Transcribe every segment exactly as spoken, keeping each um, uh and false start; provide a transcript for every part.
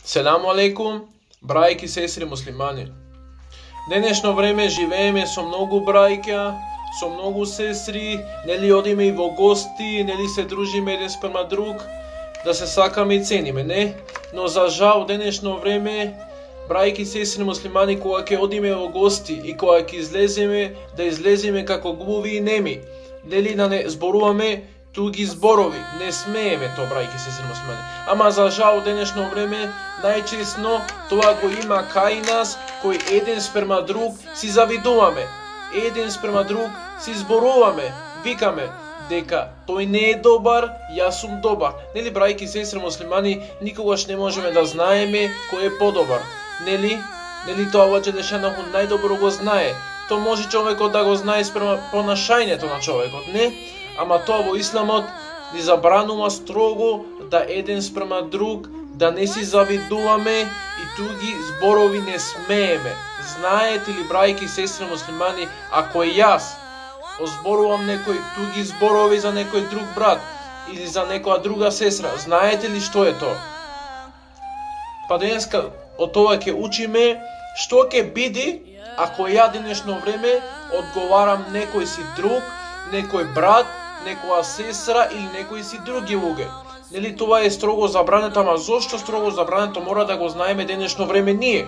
Селаму алейкум, брајки, сестри муслимани. Денешно време живееме со многу брајќа, со многу сестри, нели одиме и во гости, нели се дружиме еден спрема друг, да се сакаме и цениме, не? Но за жал денешно време, брајки, сестри муслимани, кога ќе одиме во гости и кога ќе излеземе, да излеземе како глуви и неми, нели да не зборуваме туги зборови, не смееме тоа, брајки, сестри муслимани. Ама за жал денешно време најчесно тоа го има кај нас, кој еден спрема друг си завидуваме, еден спрема друг си зборуваме, викаме дека тој не е добар, јас сум добар. Нели, брајки, сестри муслимани, никогаш не можеме да знаеме кој е подобар. Нели? Нели тоа Аллах Џелешанову најдобро го знае. Тоа може човекот да го знае спрема понашањето на човекот, не? Ама тоа во Исламот ни забранува строго да еден спрема друг, да не си завидуваме и туги зборови не смееме. Знаете ли, брајки, сестри муслимани, ако јас озборувам некои туги зборови за некој друг брат или за некоја друга сестра, знаете ли што е тоа? Па денеска од тоа ќе учиме што ќе биде ако ја денешно време одговарам некој си друг, некој брат, некоја сестра или некои си други луѓе. Нели тоа е строго забрането, ама зошто строго забрането мора да го знаеме денешно време ние?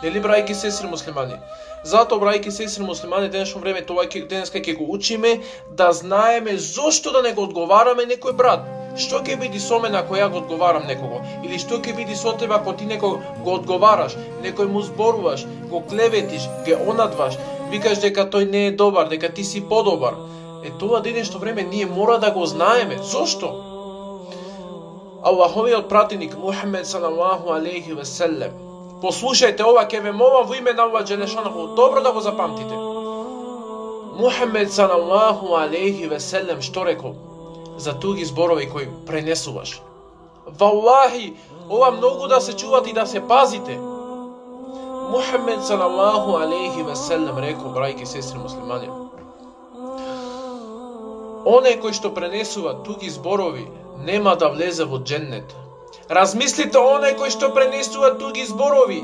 Нели, брајки, сестри муслимани? Затоа, брајки, сестри муслимани, денешно време тоа ќе денеска ќе го учиме да знаеме зошто да не го одговараме некој брат. Што ќе биде со мене ако ја го одговарам некого? Или што ќе биде со тебе ако ти некој го одговараш, некој му зборуваш, го клеветиш, ге онадваш, викаш дека тој не е добар, дека ти си подобар. Е, тоа денешно време ние мора да го знаеме. Зошто? Аллаховиот пратеник Мухамед салаллаху алейхи ве селем. Послушајте ова, ќе ве молам во име на Аллах Џелешанову, добро да го запамтите. Мухамед салаллаху алейхи ве селем што рекол за туги зборови кои пренесуваш? Валлахи, ова многу да се чувате и да се пазите. Мухамед салаллаху алейхи ве селем рекол, брајки, сестри муслимани, оне кој што пренесува туги зборови нема да влезе во џеннет. Размислите, оне кој што пренесува туги зборови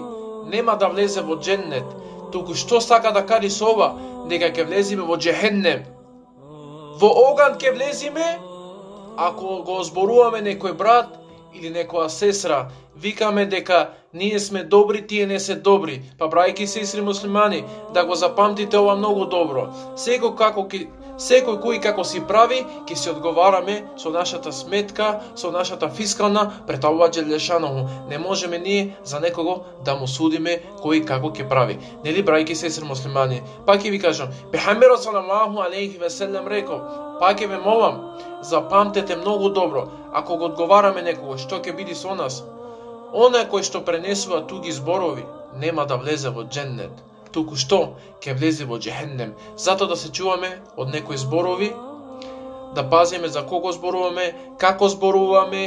нема да влезе во џеннет. Туку што сака да кажи со ова? Дека ќе влеземе во џехеннем. Во оган ќе влеземе ако го зборуваме некој брат или некоја сестра, викаме дека ние сме добри, тие не се добри. Па, брајки, сестри муслимани, да го запамтите ова многу добро. Секој како ки Секој кој како си прави, ќе се одговараме со нашата сметка, со нашата фискална пред Аллах Џелешанову. Не можеме ние за некого да му судиме кој како ќе прави. Нели, брајки, сестри муслимани? Пак ќе ви кажам, Пехамберот салаллаху алейхи ве селем рекол, пак ќе ве молам, запамтете многу добро, ако го одговараме некого, што ќе биде со нас? Оној кој што пренесува туги зборови, нема да влезе во џеннет. Туку што ќе влезе во џехеннем. Затоа да се чуваме од некои зборови, да пазиме за кого зборуваме, како зборуваме,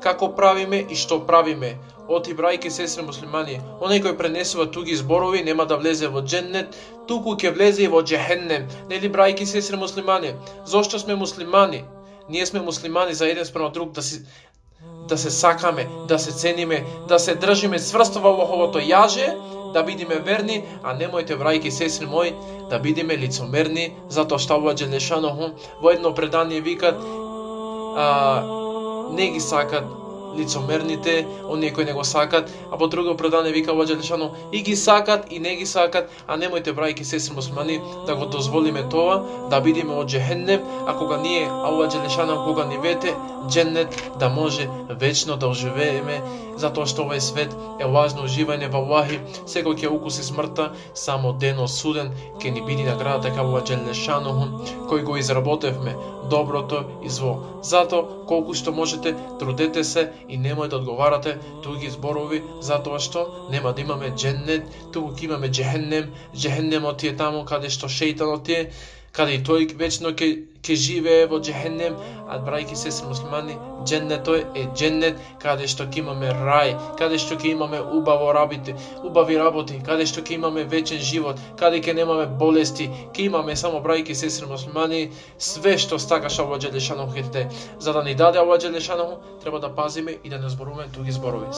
како правиме и што правиме. Оти, брајки, сестри муслимани, оној кој пренесува туги зборови нема да влезе во џеннет, туку ќе влезе и во џехеннем. Нели, брајки, сестри муслимани? Зошто сме муслимани? Ние сме муслимани за еден спрема друг да си да се сакаме, да се цениме, да се држиме цврсто во Аллаховото јаже, да бидеме верни, а немојте, брајки, сестри мои, да бидеме лицомерни, затоа што Аллах Џелешанову во едно предание викат а, не ги сакат лицомерните, оние кои не го сакат, а во друго предание вика Аллах Џелешанову и ги сакат и не ги сакат, а немојте, брајки, сестри муслимани, да го дозволиме тоа, да бидеме од џехеннем, а кога ние Аллах Џелешанову кога ни вете џеннет, да може вечно да оживееме, затоа што овој свет е лажно уживање во Аллахи, секој ќе укуси смртта, само денот суден ќе ни биде наградата кај Аллах Џелешанову, кој го изработевме доброто и зло. Затоа колку што можете, трудете се и немој да одговарате туги зборови, затоа што нема да имаме џеннет, туку ќе имаме џехеннем. Џехеннемот е таму каде што шејтанот е, каде и тој вечно ќе ќе живее во џехеннем, а, брајки, сестри муслимани, џеннетот е џеннет каде што ќе имаме рај, каде што ќе имаме убаво работи, убави работи, каде што ќе имаме вечен живот, каде ќе немаме болести, ќе имаме само, брајки, сестри муслимани, све што стакаш Аллах Џелешанову ќе даде. За да ни даде Аллах Џелешанову, треба да пазиме и да не зборуваме туги зборови.